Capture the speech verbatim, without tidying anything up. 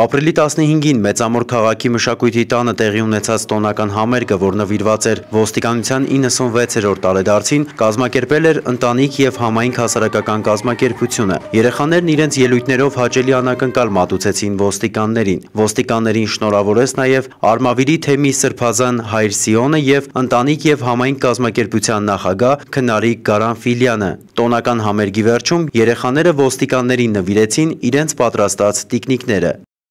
Ապրիլի տասնհինգին Մեծամոր քաղաքի մշակույթի տանը տեղի ունեցած տոնական համերգը, որ նվիրված էր ոստիկանության իննսունվեցերորդ տարեդարձին, կազմակերպել էր ընտանիք և համայնք հասարակական կազմակերպությունը։ Երեխաներն իրենց ելույթներով հաճելի անակնկալ մատուցեցին ոստիկաններին։ Ոստիկաններին շնորհավորեց նաև Արմավիրի թեմի սրբազան հայր Սիոնը և ընտանիք և համայնք կազմակերպության նախագահ Քնարիկ Գարանֆիլյանը։ Տոնական համերգի վերջում երեխաները ոստիկաններին նվիրեցին իրենց պատրաստած տիկնիկները։